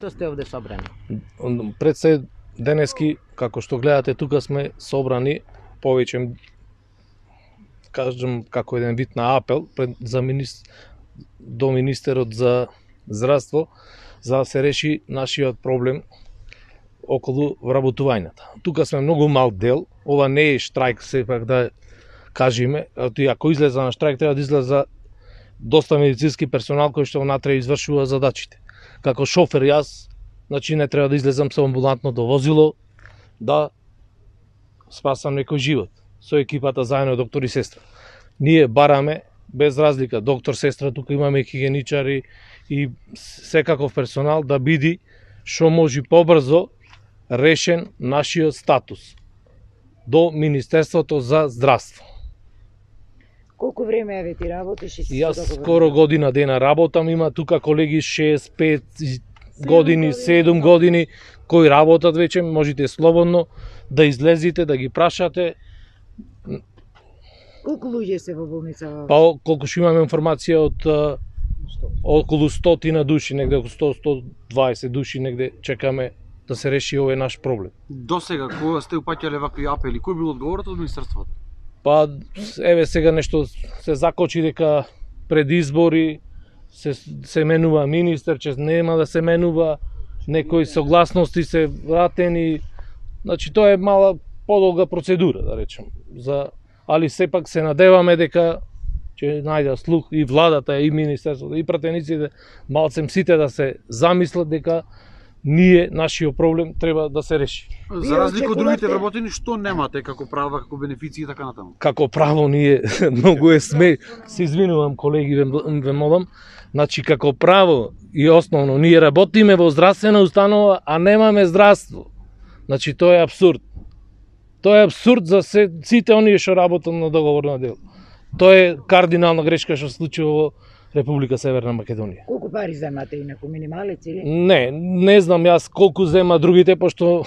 Што сте овде собрани? Пред се денески, како што гледате, тука сме собрани повеќе, кажам, како еден вид на апел до министерот за здравство, за да се реши нашиот проблем околу вработувањата. Тука сме многу мал дел, ова не е штрајк, сепак да кажеме, ако излеза на штрајк, треба да излеза доста медицински персонал кој што внатре извршува задачите. Како шофер јас, значи не треба да излезам со амбулантното возило да спасам некој живот. Со екипата заедно доктор и сестра. Ние бараме без разлика доктор, сестра, тука имаме хигиеничари и секаков персонал да биде што може побрзо решен нашиот статус до Министерството за здравство. Колку време еве ти работиш? Јас скоро година дена работам, има тука колеги 6-5 години, 7 години кои работат веќе, можете слободно да излезете, да ги прашате. Колку луѓе се во болница? Па колку што имаме информација од околу 100 души, негде околу 100-120 души негде чекаме да се реши овој наш проблем. До сега кога сте упаќале вакви апели, кој бил одговорот од министерството? Па еве сега нешто се закочи дека пред избори се менува министер, че нема да се менува, некои согласности се вратени. Значи тоа е мала подолга процедура, да речем. Али сепак се надеваме дека ќе најде слух и владата, и министерството, и пратениците, малцем сите да се замислат дека нашиот проблем треба да се реши. За разлика од другите вработени, што немате како права, како бенефиции и така натаму? Како право ние многу се извинувам колеги, ве молам, значи како право и основно ние работиме во здравствена установа, а немаме здравство. Значи тоа е апсурд. Тоа е апсурд за сите оние што работат на договорно дело. Тоа е кардинална грешка што се случува во Република Северна Македонија. Колку пари земате инаку, минималец или? Не знам јас колку зема другите, пошто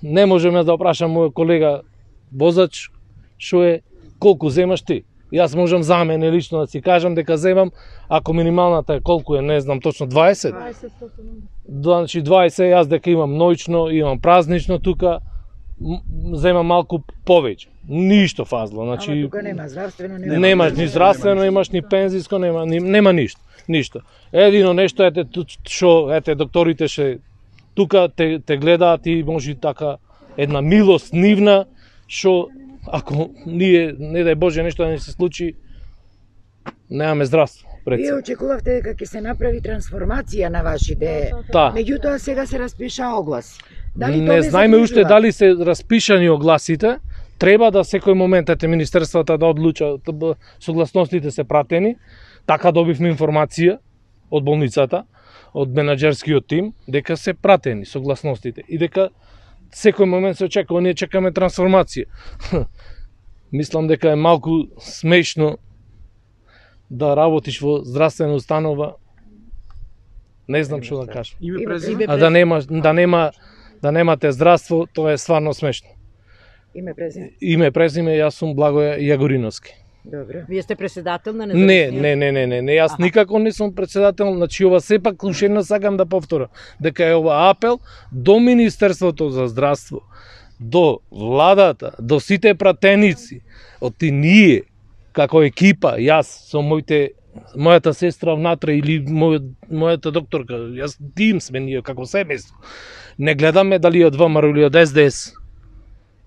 не можам јас да опрашам мој колега возач што е колку земаш ти. Јас можам за мене лично да си кажам дека земам, ако минималната е колку е, не знам точно 20. 20. Значи 20, јас дека имам ноќно, имам празнично тука, земам малку повеќе. Ништо фазло, значи Ама тука нема здравствено, немаш ни здравствено, имаш ни пензиско, нема ништо. Едино нешто што докторите тука те гледаат и може така една милост нивна што ако ние не дај Боже нешто да ни се случи, немаме здравство. Вие очекувавте дека ќе се направи трансформација на вашите, меѓутоа сега се распиша оглас. Не знаеме уште дали се распишани огласите, треба да секој момент министерствата да одлучат, согласностите се пратени, така добивме информација од болницата, од менаџерскиот тим, дека се пратени согласностите и дека секој момент се очекува, ние чекаме трансформација. Мислам дека е малку смешно да работиш во здравствена установа, не знам што да кажам. А да немате здравство, тоа е стварно смешно. Име презиме, јас сум Благоја Јагориновски. Добро. Вие сте председател на независниот? Не, јас никако не сум председател, значи ова сепак уште еднаш сакам да повторам, дека е ова апел до Министерството за здравство, до владата, до сите пратеници, од ние, како екипа, јас со мојата сестра внатре или мојата докторка, јас тим сме ние како семејство. Не гледаме дали од ВМРО или од СДС,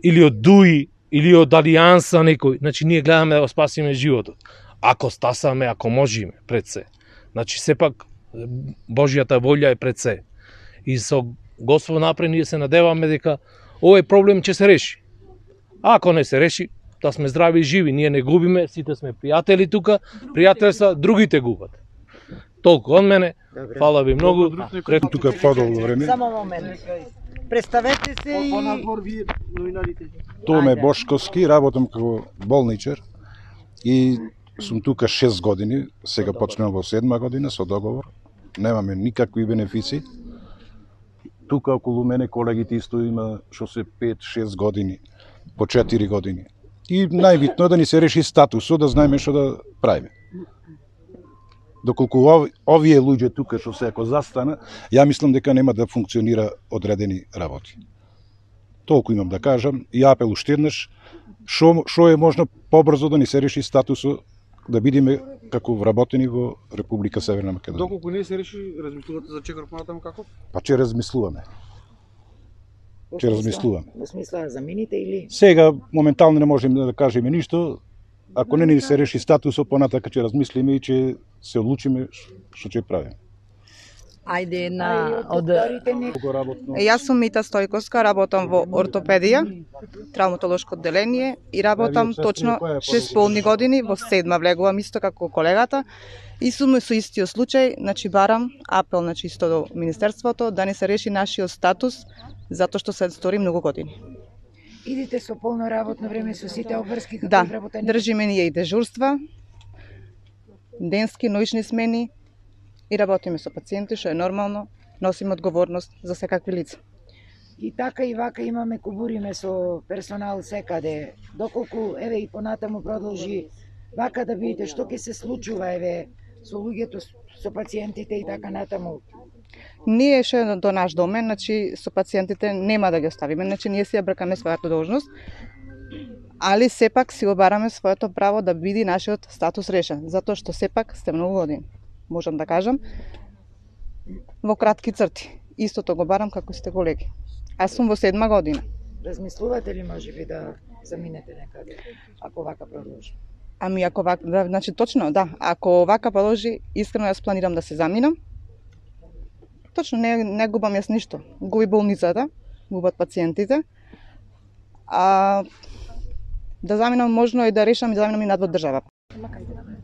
или од ДУИ, или од Алијанса некој. Значи ние гледаме да спасиме животот. Ако стасаме, ако можеме, пред се. Значи сепак Божјата волја е пред се. И со Господ напред ние се надеваме дека овој проблем ќе се реши. А ако не се реши, да сме здрави и живи, ние не губиме, сите сме пријатели тука, пријателства, другите губат. Толку од мене. Фала ви многу. Тука подолго време. Само момент. Представете се и Томе Бошковски, работам како болничар и сум тука 6 години, сега почнем во 7 година со договор. Немаме никакви бенефиции. Тука околу мене колегите исто има што се 5-6 години, по 4 години. И најбитно е да ни се реши статусот, да знаеме што да правиме. доколку овие луѓе тука што се ако застана, ја мислам дека нема да функционира одредени работи. Толку имам да кажам и апел уште еднаш, што е можно побрзо да ни се реши статусот, да бидеме како вработени во Република Северна Македонија. Доколку не се реши, размислувате за чекор понатаму како? Па че размислуваме. Че размислуваме. Во смисла за мините или? Сега моментално не можеме да кажеме ништо. Ако не ни се реши статусот, понатака ќе размислиме и ќе се одлучиме што ќе правиме. Ајде од Јас сум Мита Стојковска, работам во ортопедија, травматолошко одделение и работам точно 6 полни години, во 7 влегувам исто како колегата и сум со истиот случај, значи барам апел на чисто до Министерството да не се реши нашиот статус затоа што се стори многу години. Идите со полно работно време со сите обврски како Да, вработени? држиме ние и дежурства, денски, ноќни смени и работиме со пациенти, што е нормално, носиме одговорност за секакви лица. И така и вака имаме кубуриме со персонал секаде. Доколку еве и понатаму продолжи вака да видите што ќе се случува еве со луѓето, со пациентите и така натаму. Ние ше до наш домен, значи со пациентите нема да ги оставиме, значи ние си ја бркаме својата должност, али сепак си го бараме своето право да биде нашиот статус решен, затоа што сепак сте многу години. Можам да кажам, во кратки црти. Истото го барам како сте колеги. Аз сум во 7 година. Размислувате ли можеби да заминете некаде, ако вака продолжи? Ами ако вака, да, значи точно, да, ако вака продолжи, искрено јас планирам да се заминам. Точно, не губам јас ништо. Губи болницата, губат пациентите. А да заминам можно и да решам и да заминам и надвор држава.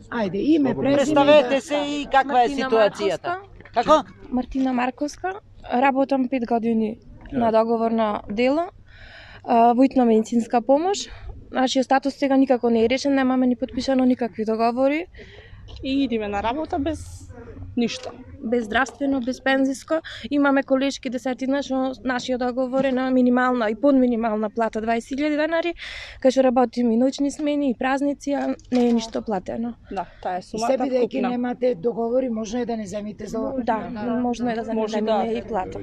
Ајде, име, презиме. Представете се и каква е ситуацијата. Како? Мартина Марковска, работам 5 години на договорно дело, во итна медицинска помош. Нашиот статус сега никако не е решен, немаме ни подпишано никакви договори. И идеме на работа без ништо. Без здравствено, без пензиско. Имаме колешки десетина, што нашиот договор е на минимална и подминимална плата 20.000 денари, кај што работиме и ноќни смени и празници, а не е ништо платено. Да, таа е И сумата се бидејќи вкупна. немате договори, можно е да не земите за Да, можно е да Може да. земеме и плата.